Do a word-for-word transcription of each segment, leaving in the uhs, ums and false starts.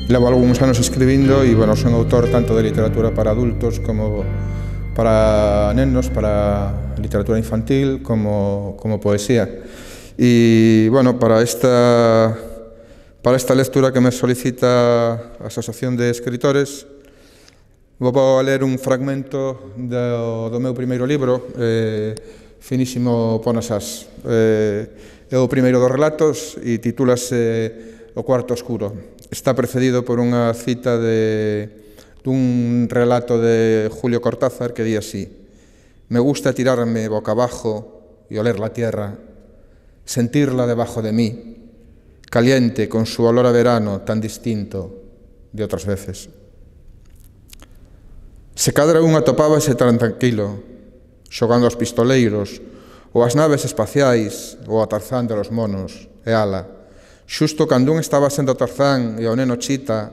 Levo algúns anos escribindo e, bueno, son autor tanto de literatura para adultos como para nenos, para literatura infantil, como, como poesía. E, bueno, para esta, para esta lectura que me solicita a Asociación de Escritores, vou a ler un fragmento do, do meu primeiro libro, eh, Finísimo Ponasás. Eh, é o primeiro dos relatos e titúlase O cuarto oscuro. Está precedido por unha cita de, dun relato de Julio Cortázar que di así: me gusta tirarme boca abajo y oler la tierra, sentirla debajo de mí, caliente con su olor a verano tan distinto de otras veces. Se cadra un atopábase tan tranquilo, xogando aos pistoleiros, ou as naves espaciais, ou a Tarzán de los monos, e ala. Xusto cando un estaba sendo Tarzán e o neno Chita,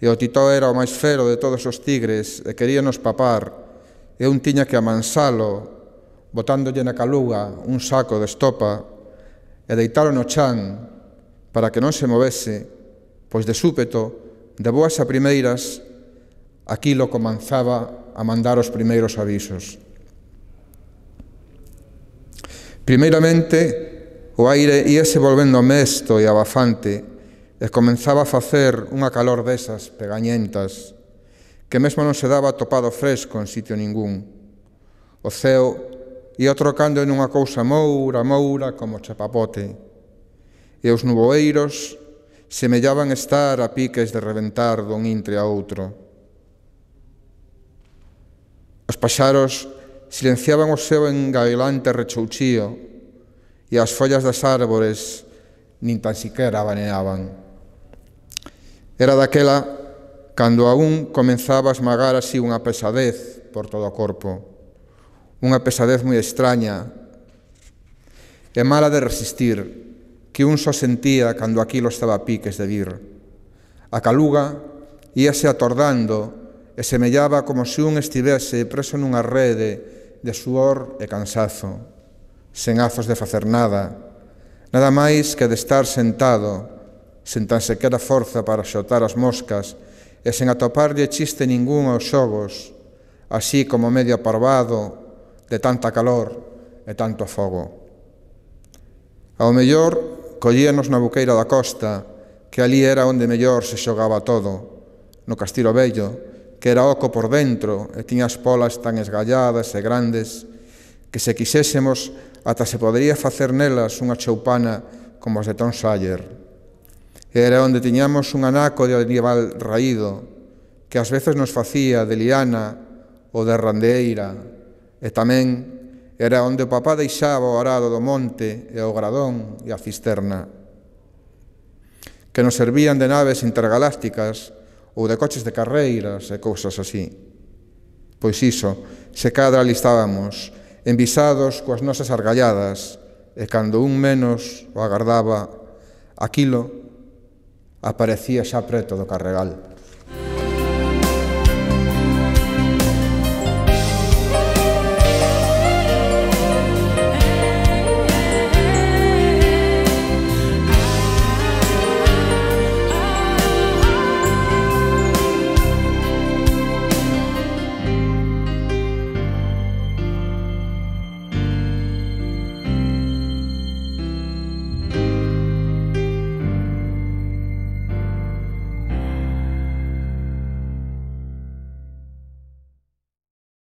e o Titó era o máis fero de todos os tigres e queríanos papar, e un tiña que amansalo, botándolle na caluga un saco de estopa, e deitalo no chan para que non se movese, pois de súpeto, de boas a primeiras, aquilo comenzaba a mandar os primeiros avisos. Primeiramente, o aire íase volvendo mesto e abafante e comenzaba a facer unha calor desas pegañentas que mesmo non se daba topado fresco en sitio ningún. O ceo ia trocando en unha cousa moura, moura como chapapote e os nuboeiros semellaban estar a piques de reventar dun intre a outro. Os paxaros silenciaban o seu engailante rechouchío e as follas das árbores nin tan siquera abaneaban. Era daquela cando aún comenzaba a esmagar así unha pesadez por todo o corpo, unha pesadez moi extraña e mala de resistir, que un só sentía cando aquilo estaba a piques de vir. A caluga íase atordando e semellaba como se un estivese preso nunha rede de suor e cansazo, sen azos de facer nada, nada máis que de estar sentado, sen tan sequera forza para xotar as moscas e sen atoparlle chiste ningún aos xogos, así como medio aparvado de tanta calor e tanto fogo. Ao mellor, collíanos na buqueira da costa, que ali era onde mellor se xogaba todo, no Castilo Vello, que era oco por dentro e tiña as polas tan esgalladas e grandes que se quixésemos ata se podería facer nelas unha choupana como as de Tom Sawyer. Era onde tiñamos un anaco de animal raído, que ás veces nos facía de liana ou de randeeira, e tamén era onde o papá deixaba o arado do monte e o gradón e a cisterna, que nos servían de naves intergalácticas ou de coches de carreiras e cousas así. Pois iso, se cadra ali estábamos, envisados coas nosas argalladas, e cando un menos o agardaba, aquilo aparecía xa preto do Carregal.